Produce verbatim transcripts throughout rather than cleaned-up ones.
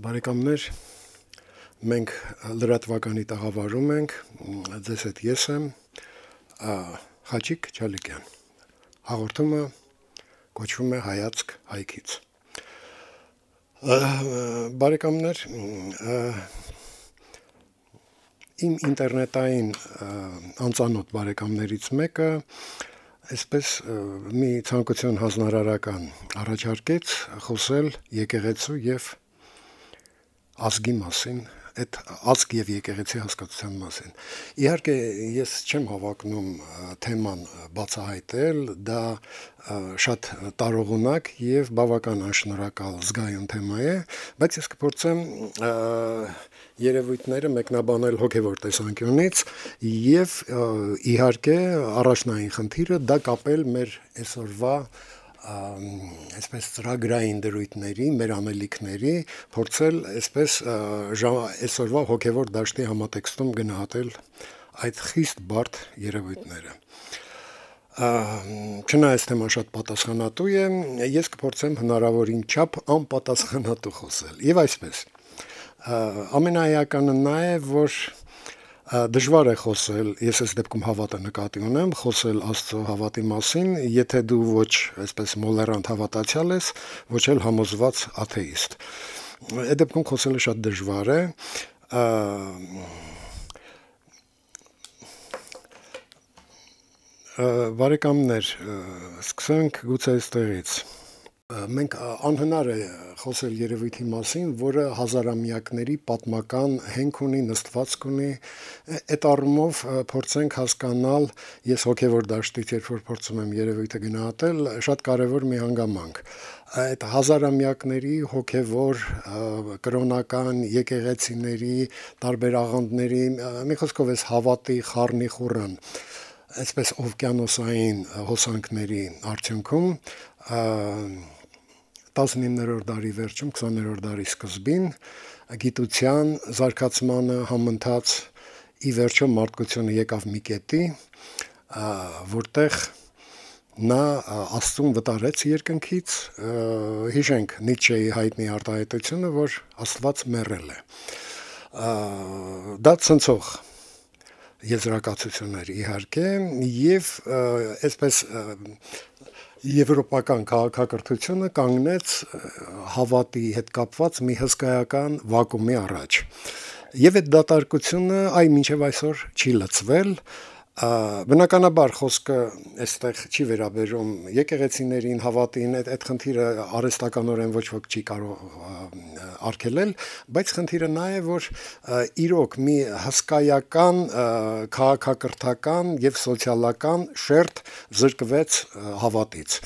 Բարեկամներ, մենք լրատվականի տաղավարում ենք, ձեզ հետ ես եմ, Խաչիկ Չալիկյան, հաղորդումը կոչվում է հայացք հայքից։ Բարեկամներ, իմ ինտերնետային անծանոթ բարեկամներից մեկը այսպես մի ցանկություն հանձնարարական առաջարկեց խոսել եկեղեցու եւ ազգի մասին, այդ ազգ եւ եկեղեցի հասկացության մասին։ Իհարկե ես չեմ հավակնում թեման բացահայտել, դա շատ տարողունակ եւ բավական անշնորհակալ զգայուն թեմա է, բայց ես կփորձեմ երևույթները մեկնաբանել հոգեվոր տեսանկյունից եւ իհարկե առաջնային խնդիրը դա կապել մեր այսօրվա այսպես ծրագրային դրույթների, մեր անելիքների, փորձել այսպես այսօրվա հոգևոր դաշտի համատեքստում գնահատել այդ խիստ բարդ երևույթները։ Չնայած թեման շատ պատասխանատու է, ես կփորձեմ հնարավորին չափ անպատասխանատու խոսել։ Եվ այսպես, ամենաէականը նա է, որ դժվար է խոսել, ես այս դեպքում հավատը նկատի ունեմ, խոսել Աստծո հավատի մասին, եթե դու ոչ այսպես մոլերանտ հավատացյալ ես, ոչ էլ համոզված աթեիստ։ Այդ դեպքում խոսելը շատ դժվար է։ Բարեկամներ, սկսենք գուցե այստեղից։ Մենք անհնար է խոսել երևույթի մասին, որը հազարամյակների պատմական հենք ունի, նստվածք ունի, այդ առումով փորձենք հասկանալ, ես հոգևոր դաշտից երբ որ փորձում եմ երևույթը գնահատել, շատ կարևոր մի հանգամանք։ Այդ հազարամյակների հոգևոր կրոնական եկեղեցիների, տարբեր աղանդների, մի խոսքով էս հավատի խառնի խուռն, այսպես օվկիանոսային հոսանքների արդյունքում տասնիններորդ դարի վերջում, քսաներորդ դարի սկզբին գիտության զարգացմանը համընթաց ի վերջո մարդկությունը եկավ մի կետի, որտեղ նա Աստծուն վտարեց երկնքից, հիշենք Նիցշեի հայտնի արտահայտությունը, որ Աստված մեռել է։ Դա ցնցող եզրակացություններ իհարկե, եւ այսպես եվրոպական քաղաքակրթությունը կանգնեց հավատի հետ կապված մի հսկայական վակուումի առաջ։ Եվ այդ դատարկությունը այ մինչև այսօր չի լցվել, բնականաբար խոսքը այստեղ չի վերաբերում եկեղեցիներին, հավատին, այդ, այդ խնդիրը արհեստականորեն ոչ ոք չի կարող արգելել, բայց խնդիրը նա է, որ իրոք մի հսկայական քաղաքակրթական եւ սոցիալական շերտ զրկվեց հավատից։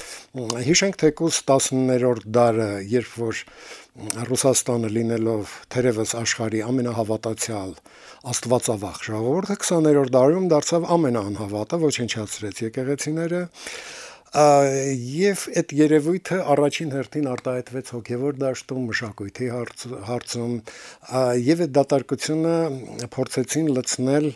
Հիշենք թեկուզ տասններորդ դարը, երբ որ Ռուսաստանը լինելով թերևս աշխարհի ամենահավատացյալ աստվածավախ ժողովուրդը, քսաներորդ դարում դարձավ ամենաանհավատը, ոչնչացրեց եկեղեցիները, եւ այդ երևույթը առաջին հերթին արտահայտվեց հոգևոր դաշտում, մշակույթի հարցում, եւ այդ դատարկությունը փորձեցին լցնել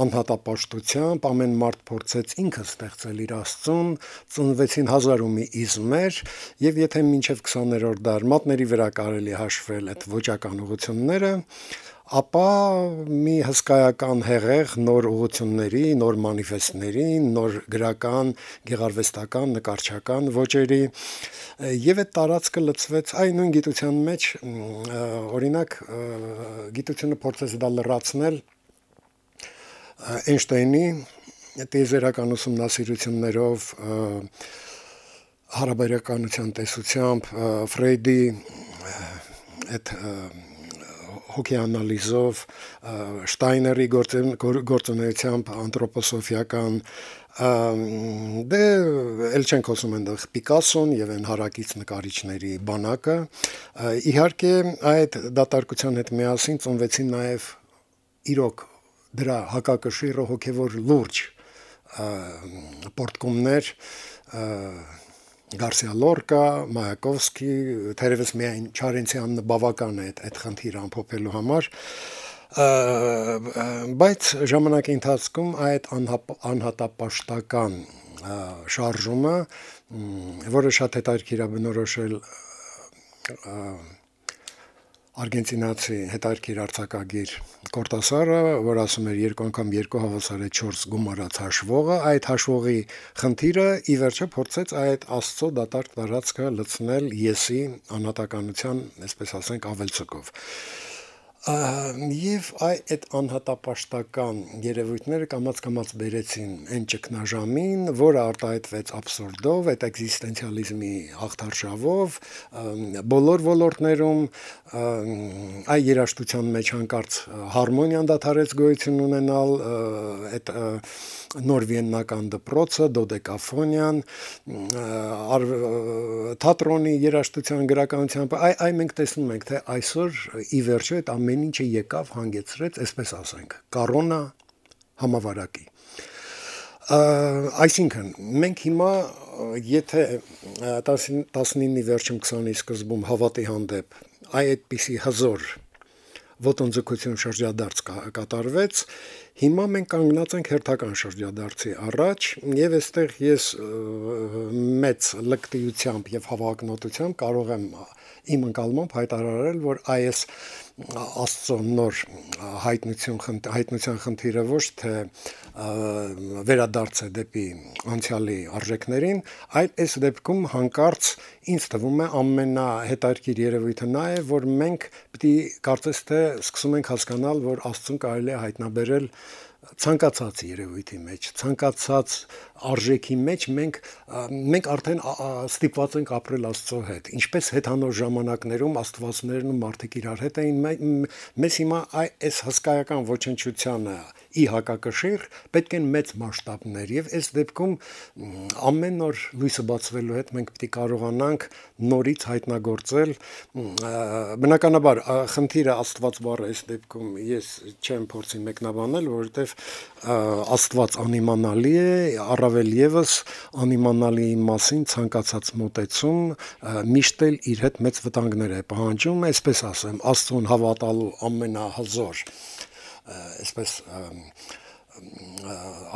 անհատապաշտությամբ, ամեն մարդ փորձեց ինքը ստեղծել իր Աստծուն, ծնվեցին հազար ու մի իզմեր, եւ եթե մինչեւ քսաներորդ դար մատների վրա կարելի հաշվել այդ ոճական ուղղությունները, ապա մի հսկայական հեղեղ նոր ուղղությունների, նոր մանիֆեստների, նոր գրական, գեղարվեստական, նկարչական ոճերի եւ այդ տարածքը լցվեց այ նույն գիտության մեջ, օրինակ գիտությունը փորձեց դա լրացնել Էյնշտեյնի տիեզերական ուսումնասիրություններով, հարաբերականության տեսությամբ, Ֆրեյդի այդ հոգեանալիզով, Շտայների գործունեությամբ անթրոպոսոֆիական, դե էլ չենք խոսում այնտեղ Պիկասոն եւ այն հարակից նկարիչների բանակը, իհարկե այդ դատարկության հետ միասին ծնվեցին նաեւ իրոք դրա հակակշիռը հոգևոր լուրջ պորտկումներ, Գարսիա Լորկա, Մայակովսկի, թերևս միայն Չարենցյանն բավական է այդ խնդիրը ամփոփելու համար, բայց ժամանակի ընթացքում այդ անհատապաշտական շարժումը, որը շատ հետաքրքիր է բնորոշել արգենտինացի հետարքիր արձակագիր Կորտասարը, որ ասում էր երկու անգամ երկու հավասար է չորս գումարած հաշվողը, այդ հաշվողի խնդիրը ի վերջո փորձեց այդ Աստծո դատարկ տարածքը լցնել եսի անհատականության, այսպես ասենք, ավելցուկով։ Եվ այդ անհատապաշտական երևույթները կամաց-կամաց բերեցին այն ճգնաժամին, որը արտահայտվեց աբսուրդով, այդ էքզիստենցիալիզմի հաղթարշավով, բոլոր ոլորտներում այ երաժշտության մեջ հանկարծ հարմոնիան դադարեց գոյություն ունենալ, այդ նոր վիեննական դպրոցը, դոդեկաֆոնիան, թատրոնի երաժշտության գրականությամբ, այ այ մենք տեսնում ենք, թե այսօր ի վերջո այդ ամեն ինչը եկավ հանգեցրեց, այսպես ասենք, կորոնա համավարակի։ Այսինքն, մենք հիմա, եթե տասնինի վերջում քսանի սկզբում հավատի հանդեպ այ այդպիսի հզոր ոտնձգություն շրջադարձ կատարվեց, հիմա մենք կանգնած ենք հերթական շրջադարձի առաջ, եւ այստեղ ես մեծ լկտիությամբ եւ հավակնոտությամբ կարող եմ իմ ընկալմամբ հայտարարել, որ այս Աստծո նոր հայտնություն հայտնության խնդիրը ոչ թե վերադարձ է դեպի անցյալի արժեքներին, այլ այս դեպքում հանկարծ ինձ թվում է ամենահետաքրքիր երևույթը նա է, որ մենք պիտի կարծես թե սկսում ենք հասկանալ, որ Աստծուն կարելի է հայտնաբերել ցանկացած երևույթի մեջ, ցանկացած արժեքի մեջ մենք մենք արդեն ստիպված ենք ապրել Աստծո հետ։ Ինչպես հետանոր ժամանակներում աստվածներն ու մարդիկ իրար հետ էին, մեզ հիմա այս հսկայական ոչնչությանը ի հակակշիռ պետք են մեծ մասշտաբներ, եւ այս դեպքում ամեն օր լույսը բացվելու հետ մենք պետք է կարողանանք նորից հայտնագործել, բնականաբար խնդիրը Աստված բառը այս դեպքում ես չեմ փորձի մեկնաբանել, որովհետեւ Աստված անիմանալի է, առավել եւս անիմանալիի մասին ցանկացած մոտեցում միշտ էլ իր հետ մեծ վտանգներ է պահանջում, այսպես ասեմ, Աստծուն հավատալու ամենահզոր այսպես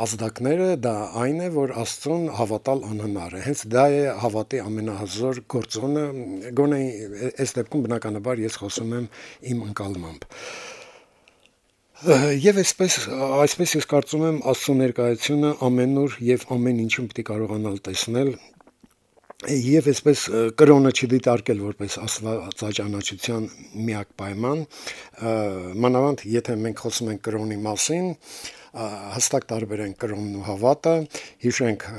ազդակները դա այն է, որ Աստծուն հավատալ անհնար է, հենց դա է հավատի ամենահզոր գործոնը, գոնե այս դեպքում բնականաբար ես խոսում եմ իմ ընկալմամբ։ Եվ այսպես, այսպես ես կարծում եմ Աստծո ներկայությունը ամենուր եւ ամեն ինչում պիտի կարողանալ տեսնել եւ այսպես կրոնը չդիտարկել որպես աստվածաճանաչության միակ պայման, մանավանդ եթե մենք խոսում ենք կրոնի մասին, հստակ տարբեր են կրոնն ու հավատը, հիշենք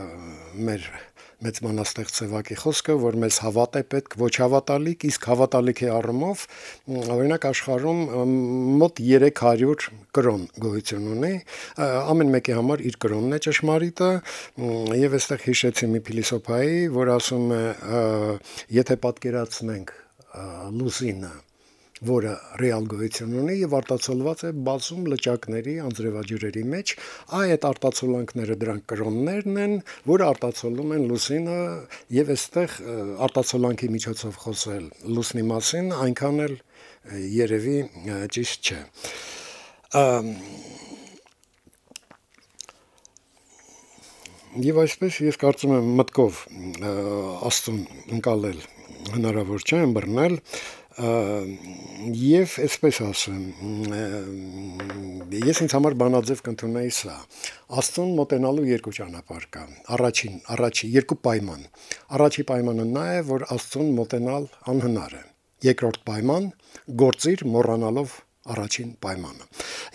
մեր մեծ մանաստեղծ Սևակի խոսքը, որ մեզ հավատ է պետք, ոչ հավատալիք, իսկ հավատալիքի առումով, օրինակ աշխարհում մոտ երեք հարյուր կրոն գոյություն ունի, ամեն մեկի համար իր կրոնն է ճշմարիտը, եւ այստեղ հիշեցի մի փիլիսոփայի, որ ասում է, եթե պատկերացնենք լուսինը, որը ռեալ գոյություն ունի եւ արտացոլված է բազում լճակների, անձրևաջրերի մեջ, այդ արտացոլանքները դրանք կրոններն են, որը արտացոլում են լուսինը եւ այստեղ արտացոլանքի միջոցով խոսել լուսնի մասին այնքան էլ երևի ճիշտ չէ։ Եվ այսպես ես կարծում եմ մտքով Աստծուն ընկալել հնարավոր չէ, ըմբռնել, եւ այսպես ասեմ, ես ինձ համար բանաձև կընդունեի սա. Աստծուն մոտենալու երկու ճանապարհ կա, առաջին, առաջի երկու պայման, առաջի պայմանը նա է, որ Աստծուն մոտենալ անհնար է, երկրորդ պայման, գործիր մոռանալով առաջին պայմանը։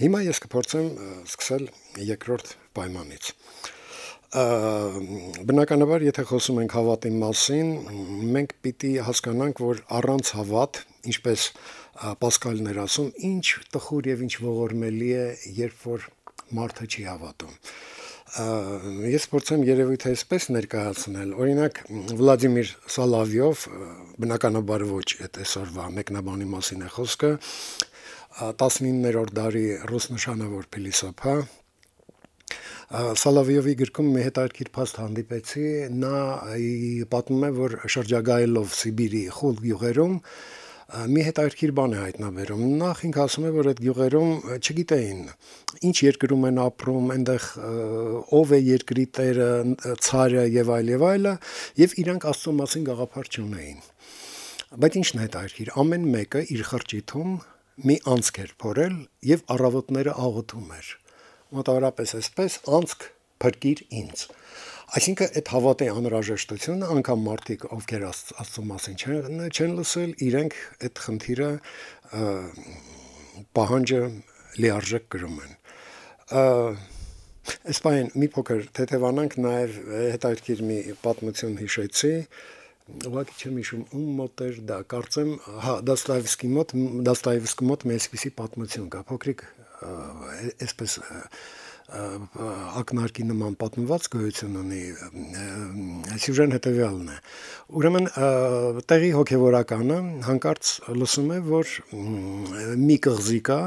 Հիմա ես կփորձեմ սկսել երկրորդ պայմանից։ Բնականաբար, եթե խոսում ենք հավատի մասին, մենք պիտի հասկանանք, որ առանց հավատ, ինչպես Պասկալն էր ասում, ինչ տխուր եւ ինչ ողորմելի է, երբ որ մարդը չի հավատում։ Ես փորձեմ երևույթը այսպես ներկայացնել, օրինակ Վլադիմիր Սոլովյով, բնականաբար ոչ այդ այսօրվա մեկնաբանի մասին է խոսքը, տասնիններորդ դարի ռուս նշանավոր փիլիսոփա, Սոլովյովի գրքում մի հետաքրքիր փաստ հանդիպեցի, նա պատմում է, որ շրջագայելով Սիբիրի խուլ գյուղերում մի հետաքրքիր բան է հայտնաբերում։ Նախ ինքը ասում է, որ այդ գյուղերում չգիտեին ինչ երկրում են ապրում, այնտեղ ով է երկրի տերը, ցարը եւ այլ եւ այլը, եւ իրանք Աստծո մասին գաղափար չունեին։ Բայց ինչն է հետաքրքիր, ամեն մեկը իր խրճիթում մի անցք էր փորել եւ առավոտները աղոթում էր։ Մոտավորապես այսպես անցք փրկիր ինձ։ Այսինքն այդ հավատի անհրաժեշտությունը անգամ մարդիկ, ովքեր Աստծո մասին չեն չեն լսել, իրենք այդ խնդիրը պահանջը լիարժեք կրում են։ Այսպայն մի փոքր թեթևանանք նաև հետաքրքիր մի պատմություն հիշեցի, ուղղակի չեմ հիշում ում մոտ էր դա, կարծեմ, հա, Դոստոևսկի մոտ, Դոստոևսկի մոտ մի այսպիսի պատմություն կա, փոքրիկ այսպես ակնարկի նման պատմված գոյություն ունի, սյուժեն հետևյալն է։ Ուրեմն տեղի հոգևորականը հանկարծ լսում է, որ մի կղզի կա,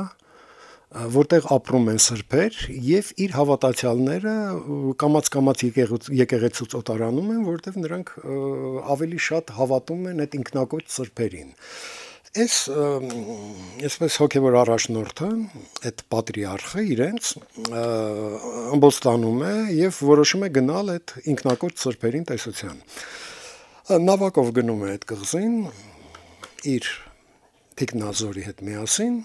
որտեղ ապրում են սրբեր եւ իր հավատացյալները կամաց-կամաց եկեղեցուց օտարանում են, որտեղ նրանք ավելի շատ հավատում են այդ ինքնակոչ սրբերին։ Այս այսպես հոգևոր առաջնորդը, այդ պատրիարխը իրենց ըմբոստանում է եւ որոշում է գնալ այդ ինքնակոչ սրբերին տեսության։ Նավակով գնում է այդ կղզին իր թիկնազորի հետ միասին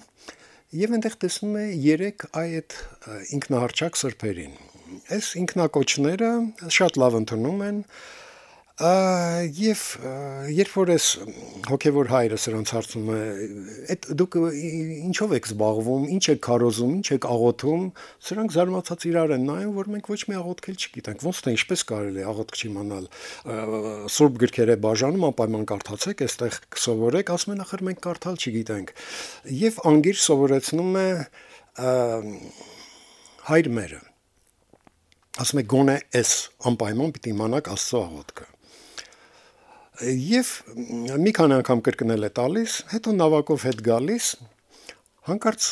եւ այնտեղ տեսնում է երեք այդ ինքնահարճակ սրբերին։ Այս ինքնակոչները շատ լավ ընդունում են եւ երբ որ այս հոգևոր հայրը սրանց հարցնում է, այդ դուք ինչով եք զբաղվում, ինչ եք քարոզում, ինչ եք աղոթում, սրանք զարմացած իրար են նայում, որ մենք ոչ մի աղոթքել չգիտենք, ոնց թե ինչպես կարելի է աղոթք չիմանալ, սուրբ գրքերը բաժանում անպայման կարդացեք, այստեղ կսովորեք, ասում են ախր մենք կարդալ չգիտենք։ Եվ անգիր սովորեցնում է հայր մերը։ Ասում է գոնե էս անպայման պիտի իմանաք Աստծո աղոթքը։ Եվ մի քանի անգամ կրկնել է տալիս, հետո նավակով հետ գալիս, հանկարծ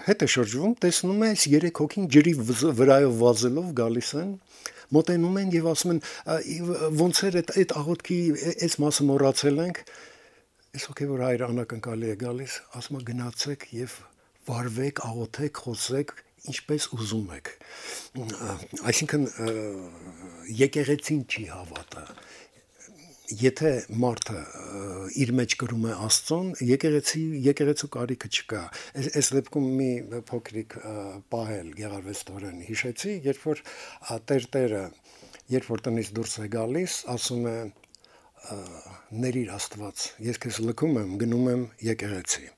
հետ է շրջվում, տեսնում է այս երեք հոգին ջրի վրայով վազելով գալիս են, մոտենում են եւ ասում են ոնց էր այդ այդ աղոթքի այս մասը մոռացել ենք։ Այս հոգևոր հայրը անակնկալի է գալիս, ասում է գնացեք եւ վարվեք, աղոթեք, խոսեք ինչպես ուզում եք։ Այսինքն եկեղեցին չի հավատը։ Եթե մարդը իր մեջ կրում է Աստծուն, եկեղեցի եկեղեցու կարիքը չկա։ Այս դեպքում մի փոքրիկ պահել գեղարվեստորեն հիշեցի, երբ որ Տեր-Տերը, երբ որ տնից դուրս է գալիս, ասում է ներիր Աստված, ես քեզ լքում եմ, գնում եմ եկեղեցի։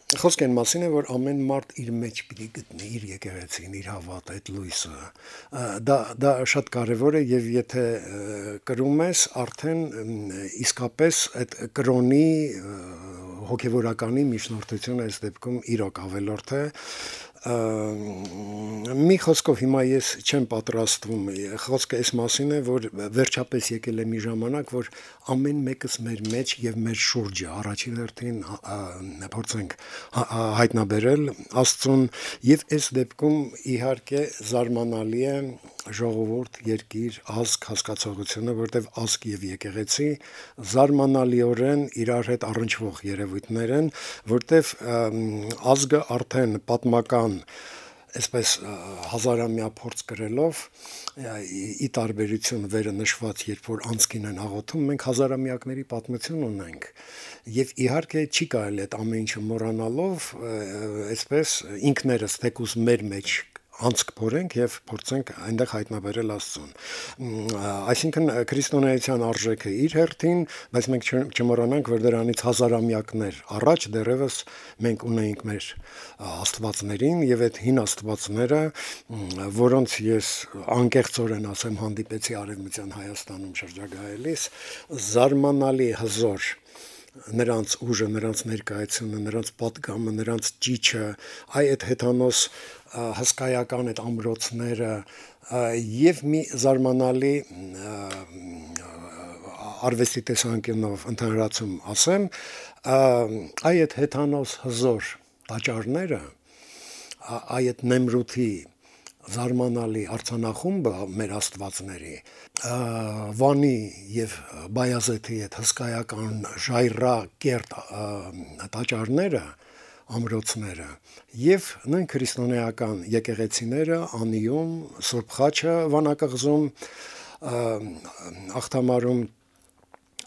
Խոսքը այն մասին է, որ ամեն մարդ իր մեջ պիտի գտնի իր եկեղեցին, իր հավատը, այդ լույսը։ Դա դա շատ կարևոր է եւ եթե կրում ես, արդեն իսկապես այդ կրոնի հոգևորականի միջնորդությունը այս դեպքում իրոք ավելորդ է։ Մի խոսքով հիմա ես չեմ պատրաստվում, խոսքը այս մասին է, որ վերջապես եկել է մի ժամանակ, որ ամեն մեկս մեր մեջ եւ մեր շուրջը առաջին հերթին փորձենք հայտնաբերել Աստծուն եւ այս դեպքում իհարկե զարմանալի է ժողովուրդ, երկիր, ազգ հասկացողությունը, որտեղ ազգ եւ եկեղեցի զարմանալիորեն իրար հետ առնչվող երևույթներ են, որտեղ ազգը արդեն պատմական այսպես հազարամյա փորձ կրելով ի տարբերություն վերը նշված, երբ որ անցքին են աղոթում, մենք հազարամյակների պատմություն ունենք եւ իհարկե չի կարելի այդ ամեն ինչը մոռանալով այսպես ինքներս թեկուզ մեր մեջ անցք փորենք եւ փորձենք այնտեղ հայտնաբերել Աստծուն։ Այսինքն քրիստոնեության արժեքը իր հերթին, բայց մենք չմոռանանք, որ դրանից հազարամյակներ առաջ դեռևս մենք ունեինք մեր աստվածներին եւ այդ հին աստվածները, որոնց ես անկեղծորեն ասեմ հանդիպեցի Արևմտյան Հայաստանում շրջագայելիս, զարմանալի հզոր նրանց ուժը, նրանց ներկայությունը, նրանց պատգամը, նրանց ճիճը, այ այդ հեթանոս հսկայական այդ ամրոցները եւ մի զարմանալի արվեստի տեսանկյունով ընդհանրացում ասեմ, այ այդ հեթանոս հզոր տաճարները, այ այդ Նեմրութի զարմանալի արձանախումբը մեր աստվածների, Վանի եւ Բայազեթի այդ հսկայական ժայռա կերտ տաճարները, ամրոցները եւ նույն քրիստոնեական եկեղեցիները Անիում, Սուրբ Խաչը Վանակղզում, Ախտամարում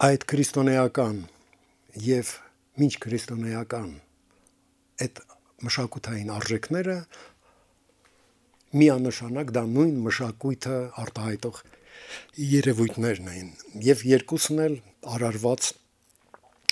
այդ քրիստոնեական եւ մինչ քրիստոնեական այդ մշակութային արժեքները միանշանակ դա նույն մշակույթը արտահայտող երևույթներն էին եւ երկուսն էլ արարված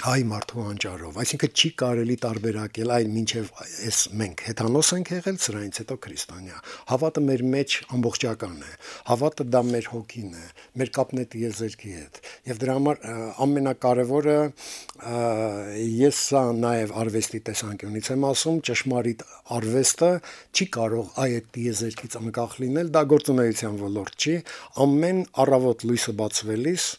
հայ մարդու անճարով, այսինքն չի կարելի տարբերակել այլ մինչև այս մենք հեթանոս ենք եղել, սրանից հետո քրիստոնյա։ Հավատը մեր մեջ ամբողջական է, հավատը դա մեր հոգին է, մեր կապն է տիեզերքի հետ։ Եվ դրա համար ամենակարևորը ես սա նաև արվեստի տեսանկյունից եմ ասում, ճշմարիտ արվեստը չի կարող այդ տիեզերքից անկախ լինել, դա գործունեության ոլորտ չի, ամեն առավոտ լույսը բացվելիս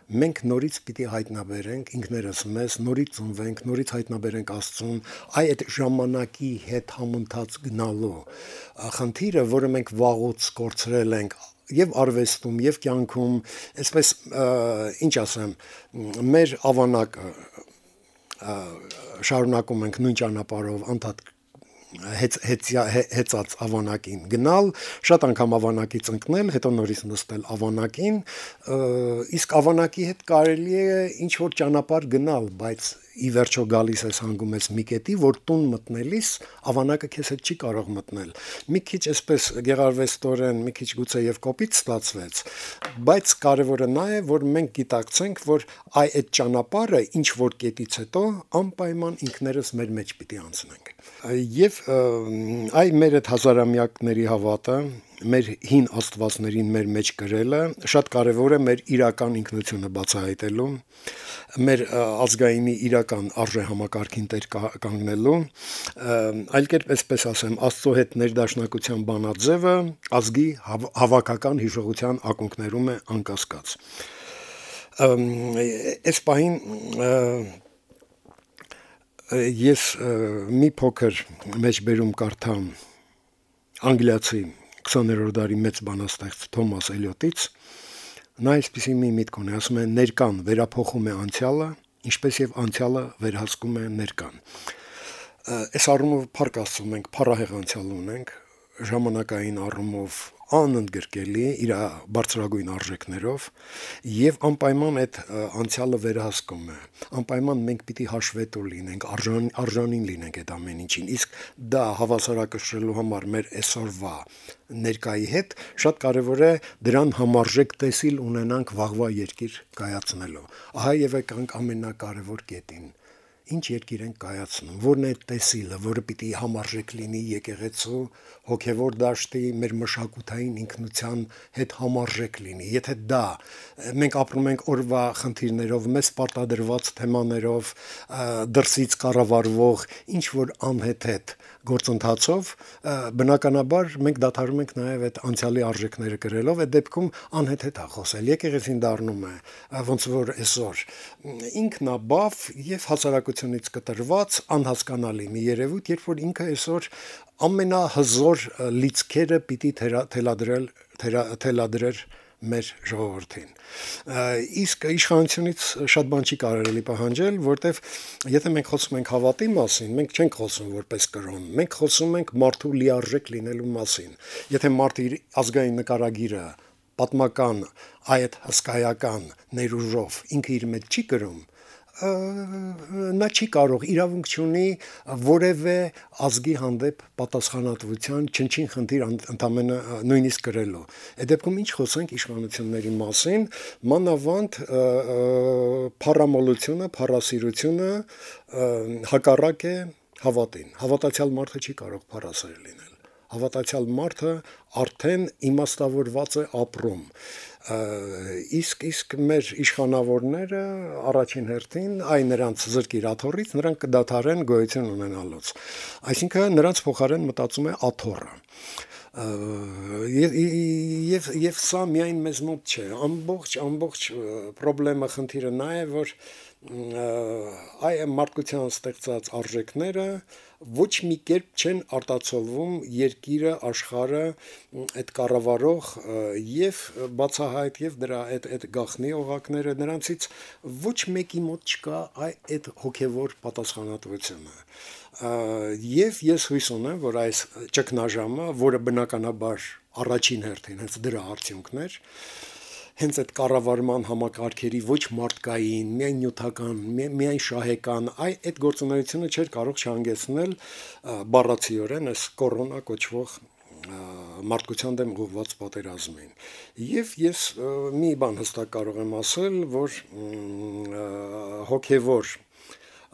մենք նորից պիտի հայտնաբերենք ինքներս մեզ, նորից ծնվենք, նորից հայտնաբերենք Աստծուն, այդ ժամանակի հետ համընթաց գնալու խնդիրը, որը մենք վաղուց կորցրել ենք եւ արվեստում եւ կյանքում, այսպես ինչ ասեմ, մեր ավանակը շարունակում ենք նույն ճանապարհով անդադ հեծ հեծած ավանակին գնալ, շատ անգամ ավանակից ընկնել, հետո նորից նստել ավանակին, իսկ ավանակի հետ կարելի է ինչ որ ճանապարհ գնալ, բայց ի վերջո գալիս ես հանգում ես մի կետի, որ տուն մտնելիս ավանակը քեզ հետ չի կարող մտնել։ Մի քիչ այսպես գեղարվեստորեն, մի քիչ գուցե եւ կոպիտ ստացվեց, բայց կարևորը նա է, որ մենք գիտակցենք, որ այ այդ ճանապարհը ինչ որ կետից հետո անպայման ինքներս մեր մեջ պիտի անցնենք։ Եվ այ մեր այդ հազարամյակների հավատը, մեր հին աստվածներին մեր մեջ կրելը շատ կարևոր է մեր իրական ինքնությունը բացահայտելու, մեր ազգայինի իրական արժե համակարգին տեր կանգնելու, այլ կերպ այսպես ասեմ, Աստծո հետ ներդաշնակության բանաձևը ազգի հավաքական հիշողության ակունքներում է անկասկած։ Այս պահին ես մի փոքր մեջբերում կարդամ անգլիացի քսաներորդ դարի մեծ բանաստեղծ Թոմաս Էլիոտից, նա այսպիսի մի միտք ունի, ասում է ներկան վերափոխում է անցյալը, ինչպես եւ անցյալը վերահսկում է ներկան։ Այս առումով փառք Աստծո մենք փառահեղ անցյալ ունենք, ժամանակային առումով անընդգրկելի իր բարձրագույն արժեքներով եւ անպայման այդ անցյալը վերահսկում է, անպայման մենք պիտի հաշվետու լինենք, արժան, արժանին լինենք այդ ամեն ինչին, իսկ դա հավասարակշռելու համար մեր այսօրվա ներկայի հետ շատ կարևոր է դրան համարժեք տեսիլ ունենանք վաղվա երկիր կայացնելու։ Ահա եւ եկանք ամենակարևոր կետին։ Ինչ երկիր ենք կայացնում, որն է տեսիլը, որը պիտի համարժեք լինի եկեղեցու հոգևոր դաշտի, մեր մշակութային ինքնության հետ համարժեք լինի։ Եթե դա մենք ապրում ենք օրվա խնդիրներով, մեծ պարտադրված թեմաներով, դրսից կառավարվող ինչ որ անհեթեթ գործընթացով, բնականաբար մենք դադարում ենք նաև այդ անցյալի արժեքները գրելով, այդ դեպքում անհեթեթ է խոսել, եկեղեցին դառնում է ոնց որ այսօր ինքնաբավ եւ հասարակությունից կտրված անհասկանալի մի երևույթ, երբ որ ինքը այսօր ամենահզոր լիցքերը պիտի թելադրել թելադրել մեր ժողովրդին։ Իսկ իշխանությունից շատ բան չի կարելի պահանջել, որտեվ եթե մենք խոսում ենք հավատի մասին, մենք չենք խոսում որպես կրոն, մենք խոսում ենք մարդու լիարժեք լինելու մասին։ Եթե մարդը իր ազգային նկարագիրը պատմական այդ հսկայական ներուժով ինքը իր մեջ չի կրում, նա չի կարող, իրավունք չունի որևէ ազգի հանդեպ պատասխանատվության չնչին խնդիր ընդամենը նույնիսկ գրելու։ Այդ դեպքում ինչ խոսենք իշխանությունների մասին, մանավանդ փառամոլությունը, փառասիրությունը հակառակ է հավատին։ Հավատացյալ մարդը չի կարող փառասեր լինել։ Հավատացյալ մարդը արդեն իմաստավորված է ապրում։ Իսկ իսկ մեր իշխանավորները առաջին հերթին այ նրանց զրկիր աթոռից նրանք կդադարեն գոյություն ունենալուց։ Այսինքն նրանց փոխարեն մտածում է աթոռը։ Եվ եւ եւ սա միայն մեզ մոտ չէ, ամբողջ ամբողջ խնդրեմը խնդիրը նա է, որ այ մարդկության ստեղծած արժեքները ոչ մի կերպ չեն արտացոլվում երկիրը, աշխարհը, այդ կառավարող եւ բացահայտ եւ դրա այդ այդ գաղտնի օղակները նրանցից ոչ մեկի մոտ չկա այդ հոգեվոր պատասխանատվությունը։ Եվ ես հույս ունեմ, որ այս ճգնաժամը, որը բնականաբար առաջին հերթին հենց դրա արդյունքն էր, հենց այդ կառավարման համակարգերի ոչ մարդկային, միայն նյութական, միայն շահեկան, այ այդ գործունեությունը չէր կարող չհանգեցնել բառացիորեն այս կորոնա կոչվող մարդկության դեմ ուղղված պատերազմին։ Եվ ես մի բան հստակ կարող եմ ասել, որ հոգևոր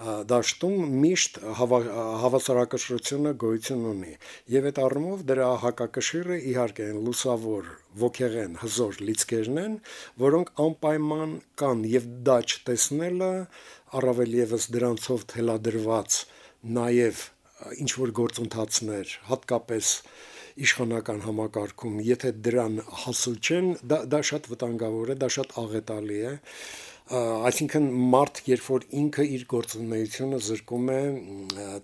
դաշտում միշտ հավասարակշռությունը գոյություն ունի, եւ այդ առումով դրա հակակշիռը իհարկե են լուսավոր, ոգեղեն, հզոր լիցքերն են, որոնք անպայման կան, եւ դա չտեսնելը, առավել եւս դրանցով թելադրված նաեւ ինչ որ գործընթացներ, հատկապես իշխանական համակարգում, եթե դրան հասու չեն, դա, դա շատ վտանգավոր է, դա շատ աղետալի է, այսինքն մարդ, երբ որ ինքը իր գործունեությունը զրկում է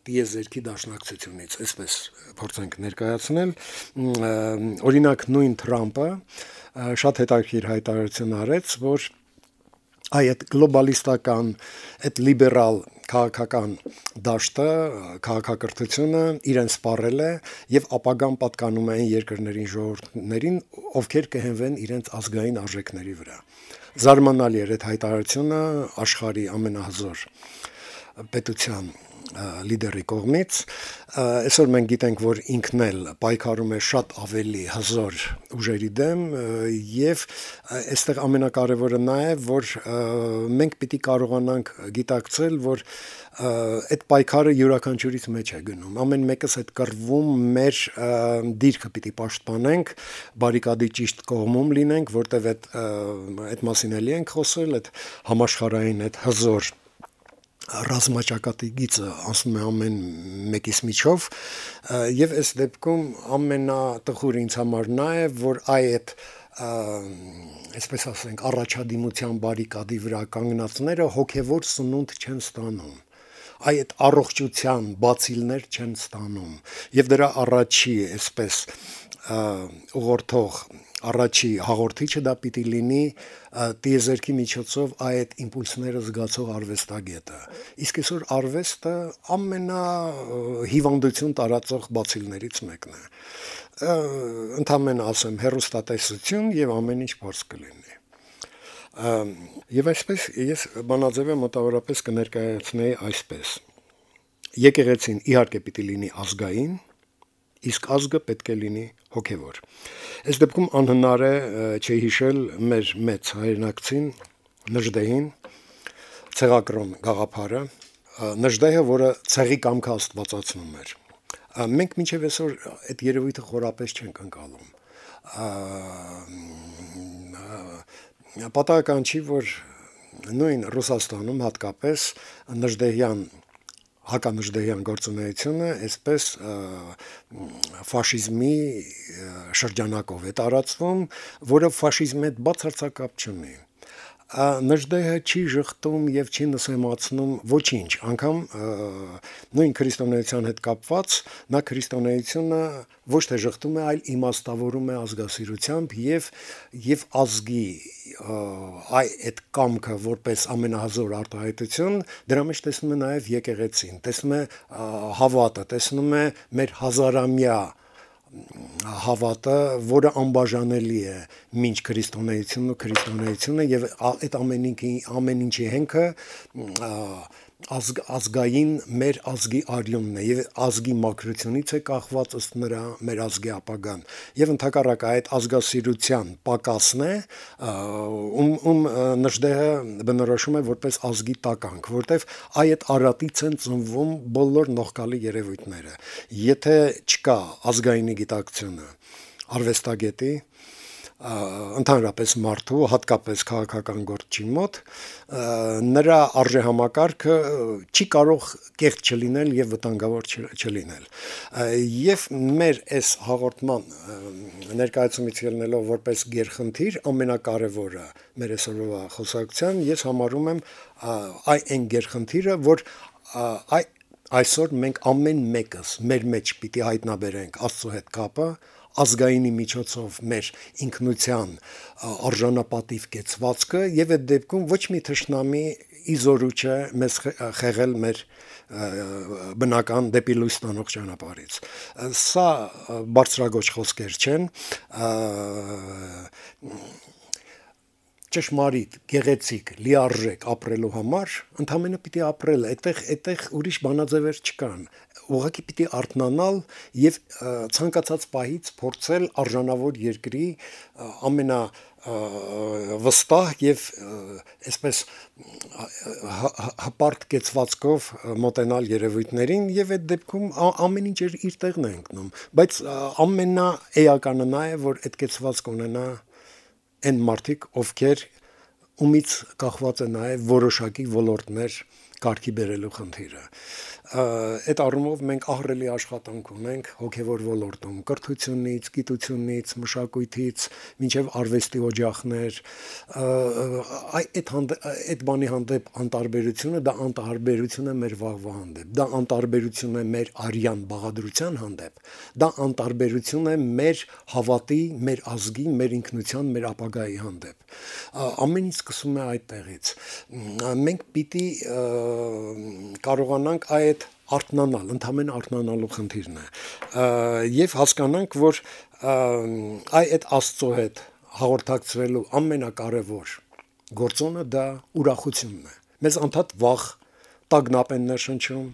տիեզերքի դաշնակցությունից, այսպես փորձենք ներկայացնել, օրինակ նույն Թրամփը շատ հետաքրքիր հայտարարություն արեց, որ այդ գլոբալիստական, այդ լիբերալ քաղաքական դաշտը, քաղաքակրթությունը իրեն սպառել է եւ ապագան պատկանում է այն երկրներին, ժողովուրդներին, ովքեր կհենվեն իրենց ազգային արժեքների վրա։ Զարմանալի էր այդ հայտարարությունը աշխարհի ամենահզոր պետության լիդերի կողմից, այսօր մենք գիտենք, որ ինքն էլ պայքարում է շատ ավելի հզոր ուժերի դեմ եւ այստեղ ամենակարևորը նա է, որ մենք պիտի կարողանանք գիտակցել, որ այդ պայքարը յուրաքանչյուրից մեջ է գնում, ամեն մեկս այդ կռվում մեր դիրքը պիտի պաշտպանենք, բարիկադի ճիշտ կողմում լինենք, որտեղ այդ այդ մասին էլի ենք խոսել, այդ համաշխարհային այդ հզոր ռազմաճակատի գիծը ասում է ամեն մեկիս միջով եւ այս դեպքում ամենատխուրը ինձ համար նա է, որ այդ այսպես ասենք առաջադիմության բարիկադի վրա կանգնածները հոգեվոր սնունդ չեն ստանում, այդ առողջության բացիլներ չեն ստանում եւ դրա առաջի այսպես ուղղորդող առաջի հաղորդիչը դա պիտի լինի տիեզերքի միջոցով այդ իմպուլսները զգացող արվեստագետը։ Իսկ այսօր արվեստը ամենա հիվանդություն տարածող բացիլներից մեկն է։ Ընդհանրապես ասեմ, հեռուստատեսություն եւ ամեն ինչ փորձ կլինի։ Եվ այսպես ես բանաձևը մոտավորապես կներկայացնեի այսպես. եկեղեցին իհարկե պիտի լինի ազգային, իսկ ազգը պետք է լինի հոգևոր։ Այս դեպքում անհնար է չհիշել մեր մեծ հայրենակցին Նժդեհին, ցեղակրոն գաղափարը, Նժդեհը, որը ցեղի կամքը աստվածացնում էր։ Մենք մինչև այսօր այդ երևույթը խորապես չենք ընկալում։ Պատահական չի, որ նույն Ռուսաստանում հատկապես Նժդեհյան հականժդեհյան գործունեությունը այսպես ֆաշիզմի շրջանակով է տարածվում, որը ֆաշիզմի հետ բացարձակապ չունի։ Նժդեհը չի ժխտում եւ չի նսեմացնում ոչինչ, անգամ նույն քրիստոնեության հետ կապված նա քրիստոնեությունը ոչ թե ժխտում է, այլ իմաստավորում է ազգասիրությամբ եւ եւ ազգի այ այդ կամքը որպես ամենահզոր արտահայտություն, դրա մեջ տեսնում է նաեւ եկեղեցին, տեսնում է հավատը, տեսնում է մեր հազարամյա հավատը, որը անբաժանելի է մինչ քրիստոնեությունն ու քրիստոնեությունը եւ այդ ամեն ինչի ամեն ինչի հենքը ազգ, ազգային մեր ազգի արյունն է եւ ազգի մաքրությունից է կախված ըստ նրա մեր ազգի ապագան եւ ընդհակառակը այդ ազգասիրության պակասն է ում ում Նժդեհը բնորոշում է որպես ազգի տականք, որտեվ այդ արատից են ծնվում բոլոր նողկալի երևույթները։ Եթե չկա ազգայինի գիտակցությունը արվեստագետի ընդհանրապես մարդու, հատկապես քաղաքական գործչի մոտ, նրա արժեհամակարգը չի կարող կեղծ չլինել եւ վտանգավոր չլինել։ Եվ մեր այս հաղորդման ներկայացումից ելնելով որպես գերխնդիր ամենակարևորը մեր այսօրվա խոսակցության ես համարում եմ այն գերխնդիրը, որ այ այսօր մենք ամեն մեկս մեր մեջ պիտի հայտնաբերենք Աստծո հետ կապը, ազգայինի միջոցով մեր ինքնության արժանապատիվ կեցվածքը եւ այդ դեպքում ոչ մի թշնամի իզորու չէ մեզ խեղել մեր բնական դեպի լույս տանող ճանապարհից։ Սա բարձրագույն խոսքեր չեն, ճշմարիտ, գեղեցիկ, լիարժեք ապրելու համար ընդհանրապես պիտի ապրել, այդտեղ այդտեղ ուրիշ բանաձևեր չկան։ Ուղղակի պիտի արթնանալ եւ ցանկացած պահից փորձել արժանավոր երկրի ամենա վստահ եւ այսպես հպարտ կեցվածքով մոտենալ երևույթներին եւ այդ դեպքում ամեն ինչ իր տեղն է ընկնում, բայց ամենաէականը նա է, որ այդ կեցվածք ունենա այն մարդիկ, ովքեր ումից կախված է նաև որոշակի ոլորտներ կարգի բերելու խնդիրը։ Այդ առումով մենք ահռելի աշխատանք ունենք հոգևոր ոլորտում, կրթությունից, գիտությունից, մշակույթից, մինչև արվեստի օջախներ, այդ այդ բանի հանդեպ անտարբերությունը դա անտարբերություն է մեր վաղվա հանդեպ, դա անտարբերություն է մեր արյան բաղադրության հանդեպ, դա անտարբերություն է մեր հավատի, մեր ազգի, մեր ինքնության, մեր ապագայի հանդեպ։ Ամեն ինչ սկսում է այդտեղից։ Մենք պիտի կարողանանք այդ արթնանալ, ընդհանրեն արթնանալու խնդիրն է, եւ հասկանանք, որ այ այդ Աստծո հետ հաղորդակցվելու ամենակարևոր գործոնը դա ուրախությունն է։ Մեզ անդադ վախ, տագնապ են ներշնչում,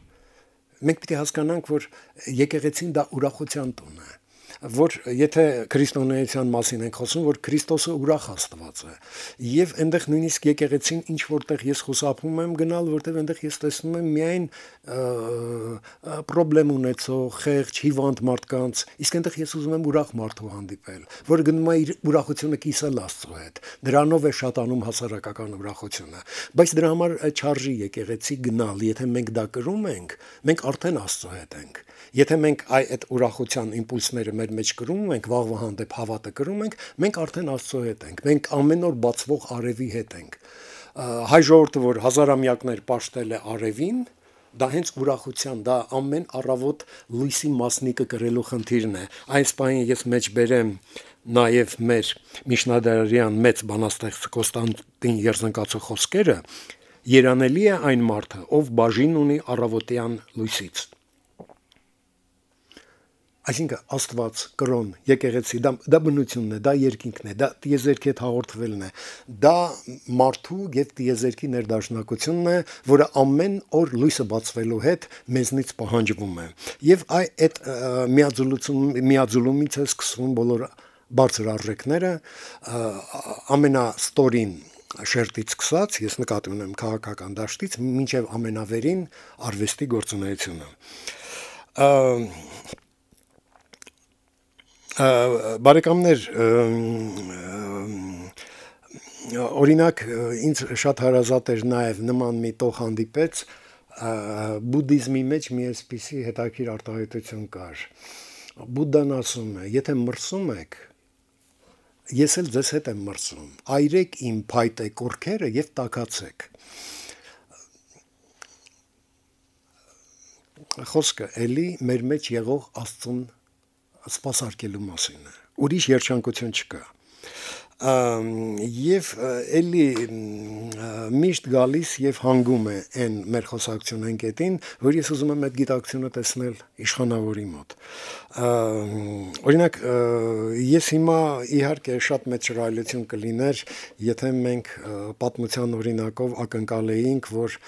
մենք պիտի հասկանանք, որ եկեղեցին դա ուրախության տուն է, որ եթե քրիստոնեության մասին ենք խոսում, որ Քրիստոսը ուրախ Աստված է, եւ այնտեղ նույնիսկ եկեղեցին ինչ որտեղ ես խուսափում եմ գնալ, որտեղ այնտեղ ես տեսնում եմ միայն պրոբլեմ ունեցող, խեղճ, հիվանդ մարդկանց, իսկ այնտեղ ես ուզում եմ ուրախ մարդու հանդիպել, որը գնում է իր ուրախությունը կիսել Աստծո հետ, դրանով է շատանում հասարակական ուրախությունը, բայց դրա համար չարժի եկեղեցի գնալ, եթե մենք դա կրում ենք, մենք արդեն Աստծո հետ ենք, եթե մենք այդ ուրախության իմպուլսները մեր մեջ կրում ենք, վաղվա հանդեպ հավատը կրում ենք, մենք արդեն Աստծո հետ ենք, մենք ամեն օր բացվող արևի հետ ենք, հայ ժողովուրդը, որ հազարամյակներ պաշտել է արևին, դա հենց ուրախության, դա ամեն առավոտ լույսի մասնիկը կրելու խնդիրն է, այս պահին ես մեջ բերեմ նաև մեր միջնադարյան մեծ բանաստեղծ Կոստանդին Երզնկացու խոսքերը, երանելի է այն մարդը, ով բաժին ունի առավոտյան լույսից։ Այսինքն Աստված, կրոն, եկեղեցի, դա, դա բնությունն է, դա երկինքն է, դա տիեզերքի հետ հաղորդվելն է, դա մարդու եւ տիեզերքի ներդաշնակությունն է, որը ամեն օր լույսը բացվելու հետ մեզնից պահանջվում է։ Եվ այդ միաձուլություն, միաձուլումից է սկսվում բոլոր բարձր արժեքները, ամենաստորին շերտից սկսած, ես նկատի ունեմ քաղաքական դաշտից, մինչև ամենավերին արվեստի գործունեությունը։ Բարեկամներ, օրինակ ինձ շատ հարազատ էր նաև նման մի տող հանդիպեց, բուդդիզմի մեջ մի այսպիսի հետաքրքիր արտահայտություն կար։ Բուդդան ասում է, եթե մրսում եք, ես էլ ձեզ հետ եմ մրսում, այրեք իմ փայտե կուռքերը եւ տաքացեք։ Խոսքը էլի մեր մեջ եղող Աստծուն սպասարկելու մասին է, ուրիշ երջանկություն չկա, և էլի միշտ գալիս և հանգում է այն մեր խոսակցություն ընկետին, որ ես ուզում եմ այդ գիտակցությունը տեսնել իշխանավորի մոտ, օրինակ ես հիմա իհարկե շատ մեծ շռայլություն կլիներ, եթե մենք պատմության օրինակով ակնկալեինք, որ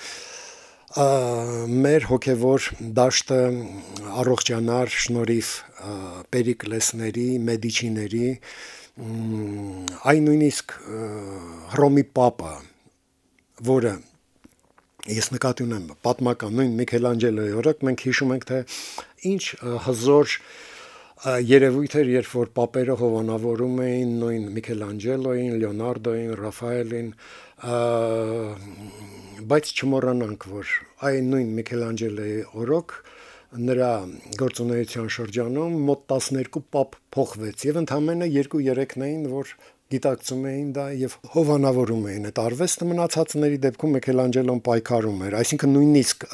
մեր հոգևոր դաշտը առողջանար շնորհիվ Պերիկլեսների, Մեդիչիների, այն նույնիսկ Հռոմի Պապը, որը ես նկատի ունեմ պատմական նույն Միքելանջելոյի օրոք, մենք հիշում ենք, թե ինչ հզոր երևույթ էր, երբ որ պապերը հովանավորում էին նույն Միքելանջելոյին, Լեոնարդոյին, Ռաֆայելին, բայց չմոռանանք, որ այն նույն Միքելանջելոյի օրոք նրա գործունեության շրջանում մոտ տասներկու պապ փոխվեց եւ ընդամենը երկու երեքն էին, որ գիտակցում էին դա եւ հովանավորում էին այդ արվեստը, մնացածների դեպքում Միքելանջելոն պայքարում էր, այսինքն նույնիսկ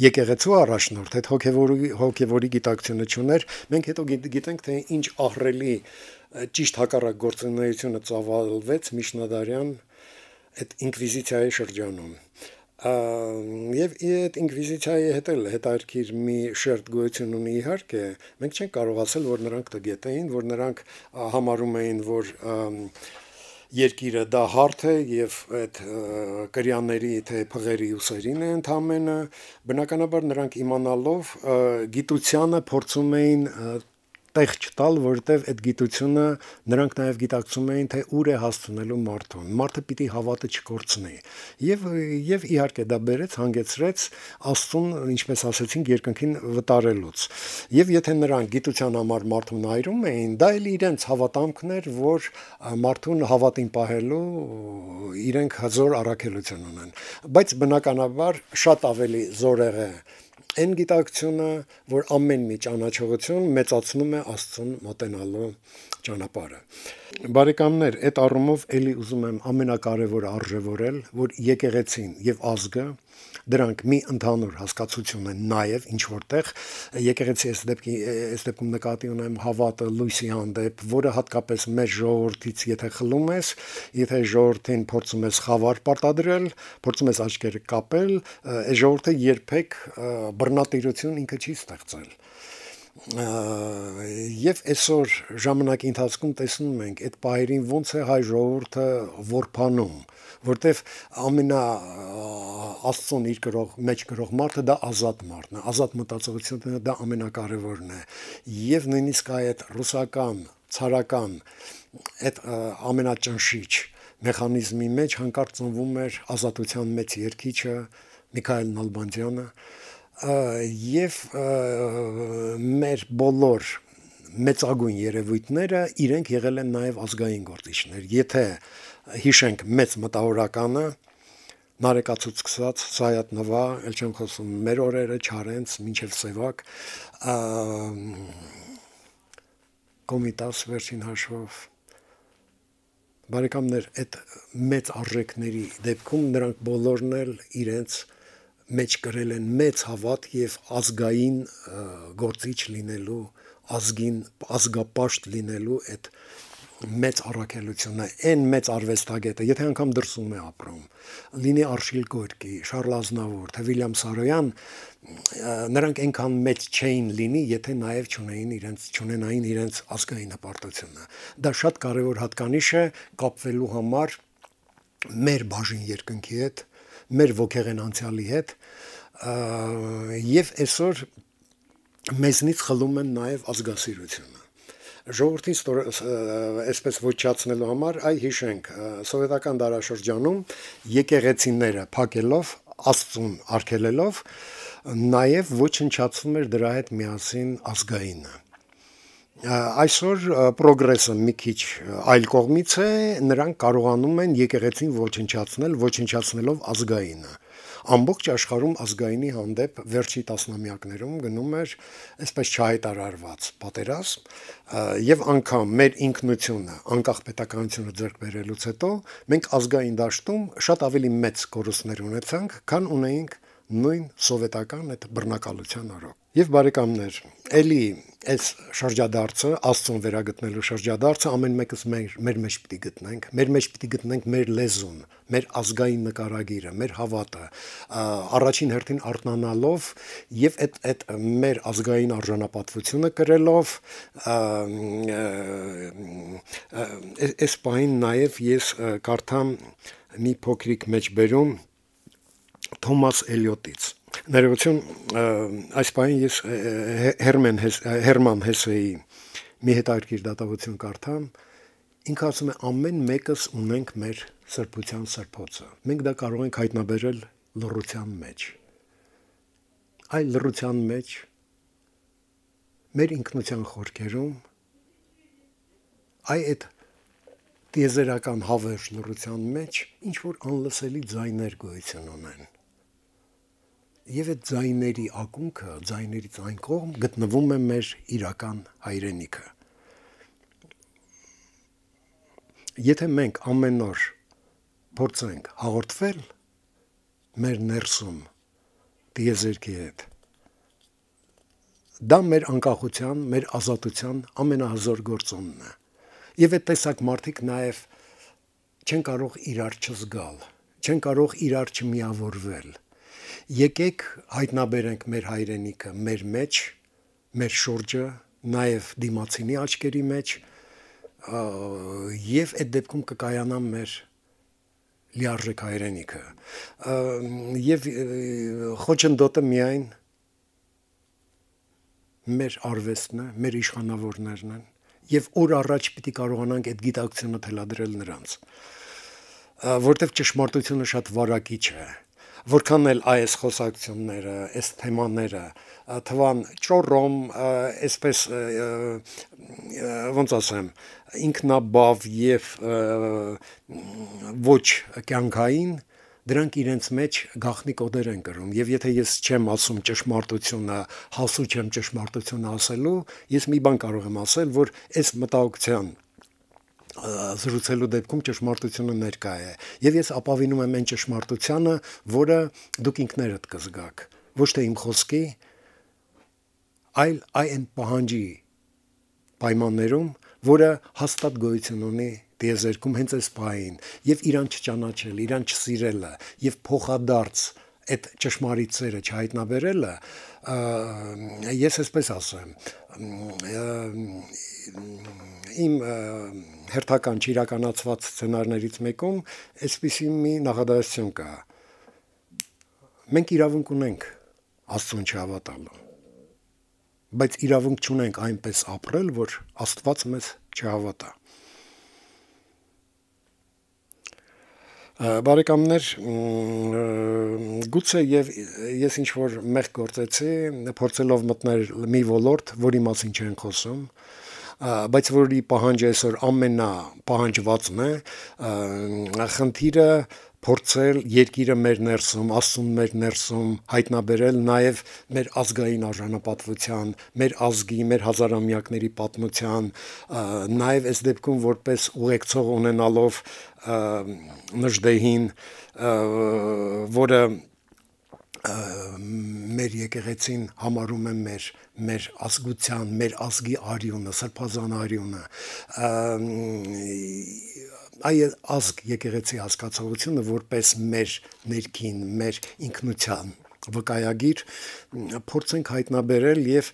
եկեղեցու առաջնորդ այդ հոգեվորի հոգեվորի գիտակցությունը չուներ, մենք հետո գիտենք, թե ինչ ահռելի ճիշտ հակառակ գործունեությունը ծավալվեց միջնադարյան այդ ինկվիզիցիայի շրջանում։ Եվ այդ ինկվիզիցիայի հետ էլ հետաքրքիր մի շերտ գոյություն ունի, իհարկե, մենք չենք կարող ասել, որ նրանք տգետ էին, որ նրանք համարում էին, որ երկիրը դա հարթ է եւ այդ կրյանների թե փղերի ուսերին է ընդամենը բնականաբար նրանք իմանալով գիտությանը փորձում էին տեղ չտալ, որովհետև այդ գիտությունը նրանք նաև գիտակցում էին, թե ուր է հասցնելու մարդուն։ Մարդը պիտի հավատը չկորցնի։ Եվ եւ իհարկե դա բերեց հանգեցրեց Աստծուն, ինչպես ասեցինք, երկնքին վտարելուց։ Եվ եթե նրանք գիտության համար մարդուն այրում էին, դա էլ իրենց հավատամքն էր, որ մարդուն հավատին պահելու իրենք հզոր առաքելություն ունեն։ Բայց բնականաբար շատ ավելի զորեղ է այն գիտակցությունը, որ ամեն մի ճանաչողություն մեծացնում է Աստծուն մոտենալու ճանապարհը։ Բարեկամներ, այդ առումով էլի ուզում եմ ամենակարևորը արժևորել, որ եկեղեցին եւ ազգը դրանք մի ընդհանուր հասկացություն են նաև ինչ որտեղ եկեղեցի այս դեպքի այս դեպքում նկատի ունեմ հավատը լույսի հանդեպ, որը հատկապես մեր ժողովրդից եթե խլում ես, եթե ժողովրդին փորձում ես խավար պարտադրել, փորձում ես աչքերը կապել, այս ժողովուրդը երբեք բռնատիրություն ինքը չի ստեղծել։ Եվ այսօր ժամանակի ընթացքում տեսնում ենք այդ պահերին ոնց է հայ ժողովուրդը որփանում, որտեվ ամենա Աստծուն իր գրող մեջ գրող մարդը դա ազատ մարդն է, ազատ մտածողությունը դա ամենակարևորն է, եւ նույնիսկ այդ ռուսական, ցարական այդ ամենաճնշիչ մեխանիզմի մեջ հանկարծ ծնվում էր ազատության մեծ երգիչը Միքայել Նալբանդյանը եւ մեր բոլոր մեծագույն երևույթները իրենք եղել են նաև ազգային գործիչներ։ Եթե հիշենք մեծ մտավորականը Նարեկացուց սկսած Սայաթ Նվա, ել չեմ խոսում մեր օրերը Չարենց, մինչև Սևակ, Կոմիտաս վերջին հաշվով բարեկամներ, այդ մեծ արժեքների դեպքում նրանք բոլորն էլ իրենց մեջ կրել են մեծ հավատ եւ ազգային գործիչ լինելու, ազգին ազգապաշտ լինելու այդ մեծ առաքելությունը, այն մեծ արվեստագետը, եթե անգամ դրսում է ապրում, լինի Արշիլ Գորկի, Շարլ Ազնավուր, թե Վիլյամ Սարոյան, նրանք այնքան մեծ չէին լինի, եթե նաև չունեին իրենց չունենային իրենց ազգային հպարտությունը։ Դա շատ կարևոր հատկանիշ է կապվելու համար մեր բաժին երկնքի հետ, մեր ոգեղեն անցյալի հետ, եւ այսօր մեզնից խլում են նաև ազգասիրությունը։ Ժողովրդին այսպես ոչնչացնելու համար այ հիշենք սովետական դարաշրջանում եկեղեցիները փակելով, Աստծուն արգելելով, նաև ոչնչացվում էր դրա հետ միասին ազգայինը։ Այսօր պրոգրեսը մի քիչ այլ կողմից է, նրանք կարողանում են եկեղեցին ոչնչացնել, ոչնչացնելով ազգայինը։ Ամբողջ աշխարհում ազգայինի հանդեպ վերջի տասնամյակներում գնում էր այսպես չհայտարարված պատերազմ, եւ անգամ մեր ինքնությունը, անկախ պետականությունը ձեռք բերելուց հետո մենք ազգային դաշտում շատ ավելի մեծ կորուստներ ունեցանք, քան ունեինք նույն սովետական այդ բռնակալության օրոք։ Եվ բարեկամներ, էլի այս շրջադարձը, Աստծուն վերագտնելու շրջադարձը ամեն մեկս մեր մեր մեջ պիտի գտնենք, մեր մեջ պիտի գտնենք մեր լեզուն, մեր ազգային նկարագիրը, մեր հավատը, առաջին հերթին արթնանալով եւ այդ այդ մեր ազգային արժանապատվությունը կրելով, այս պահին նաեւ ես կարդամ մի փոքրիկ մեջբերում Թոմաս Էլիոտից։ Ներողություն, այս պահին ես Հերման Հերման Հեսեի մի հետաքրքիր դատավություն կարդամ, ինքը ասում է ամեն մեկս ունենք մեր սրբության սրբոցը։ Մենք դա կարող ենք հայտնաբերել լռության մեջ։ Այ լռության մեջ մեր ինքնության խորքերում այ այդ տիեզերական հավերժ լռության մեջ ինչ որ անլսելի ձայներ գոյություն ունեն։ Եվ այդ ձայների ակունքը, ձայներից այն կողմ գտնվում է մեր իրական հայրենիքը։ Եթե մենք ամեն օր փորձենք հաղորդվել մեր ներսում տիեզերքի հետ, դա մեր անկախության, մեր ազատության ամենահզոր գործոնն է։ Եվ այդ տեսակ մարդիկ նաև չեն կարող իրար չզգալ, չեն կարող իրար չմիավորվել։ Եկեք հայտնաբերենք մեր հայրենիքը մեր մեջ, մեր շուրջը, նաև դիմացինի աչքերի մեջ, եւ այդ դեպքում կկայանա մեր լիարժեք հայրենիքը եւ խոչընդոտը միայն մեր արվեստն է, մեր իշխանավորներն են եւ օր առաջ պիտի կարողանանք այդ գիտակցությունը թելադրել նրանց, որտեվ ճշմարտությունը շատ վարակիչ է, որքան էլ այս խոսակցությունները, այս թեմաները թվան ճոռոմ, այսպես ոնց ասեմ, ինքնաբավ եւ ոչ կյանքային, դրանք իրենց մեջ գաղտնի կոդեր են կրում եւ եթե ես չեմ ասում ճշմարտությունը, հասու չեմ ճշմարտությունը ասելու, ես մի բան կարող եմ ասել, որ այս մտահոգության զրուցելու դեպքում ճշմարտությունը ներկա է եւ ես ապավինում եմ այն ճշմարտությանը, որը դուք ինքներդ կզգաք, ոչ թե իմ խոսքի, այլ այն պահանջի պայմաններում, որը հաստատ գոյություն ունի դիեզերքում հենց այս պահին եւ իրան չճանաչել, իրան չսիրելը եւ փոխադարձ այդ ճշմարիտ սերը չհայտնաբերելը, ես այսպես ասեմ, իմ հերթական չիրականացված սցենարներից մեկում այսպիսի մի նախադասություն կա. մենք իրավունք ունենք Աստծուն չհավատալու, բայց իրավունք չունենք այնպես ապրել, որ Աստված մեզ չհավատա։ Բարեկամներ, գուցե եւ ես ինչ որ մեղ գործեցի, փորձելով մտնել մի ոլորտ, որի մասին չեն խոսում, բայց որի պահանջը այսօր ամենա պահանջվածն է, խնդիրը փորձել երկիրը մեր ներսում, Աստծուն մեր ներսում հայտնաբերել նաև մեր ազգային արժանապատվության, մեր ազգի, մեր հազարամյակների պատմության, նաև այս դեպքում որպես ուղեկցող ունենալով Նժդեհին, որը մեր եկեղեցին համարում է մեր մեր ազգության, մեր ազգի արյունը, սրբազան արյունը, այ ազգ եկեղեցի հասկացողությունը որպես մեր ներքին, մեր ինքնության վկայագիր փորձենք հայտնաբերել եւ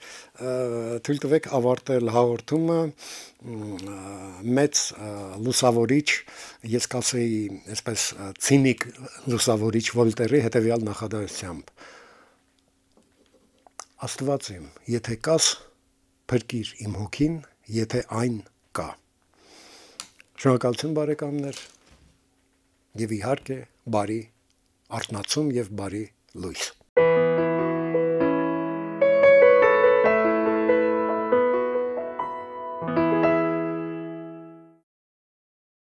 թույլ տվեք ավարտել հաղորդումը մեծ լուսավորիչ, ես կասեի այսպես ցինիկ լուսավորիչ Վոլտերի հետեւյալ նախադասությամբ. Աստված իմ, եթե կաս, փրկիր իմ հոգին, եթե այն կա։ Շնորհակալություն բարեկամներ եւ իհարկե բարի արթնացում եւ բարի լույս։